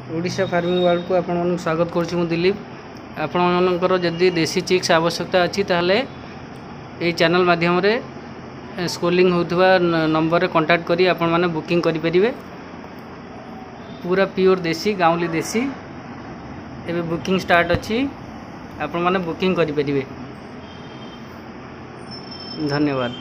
Odisha farming ୱାର୍ଲଡ଼କୁ ଆପଣମାନଙ୍କୁ ସ୍ୱାଗତ କରୁଛି ମୁଁ ଦିଲ୍ଲୀପ। ଆପଣମାନଙ୍କର ଯଦି ଦେଶୀ ଚିକ୍ସ ଆବଶ୍ୟକତା ଅଛି, ତାହେଲେ ଏଇ ଚ୍ୟାନେଲ୍ ମାଧ୍ୟମରେ ସ୍କ୍ରୋଲିଂ ହେଉଥିବା ନମ୍ବରରେ କଣ୍ଟାକ୍ଟ କରି ଆପଣମାନେ ବୁକିଂ କରିପାରିବେ। ପୁରା ପିଓର ଦେଶୀ, ଗାଉଁଲି ଦେଶୀ। ଏବେ ବୁକିଂ ଷ୍ଟାର୍ଟ ଅଛି, ଆପଣମାନେ ବୁକିଂ କରିପାରିବେ। ଧନ୍ୟବାଦ।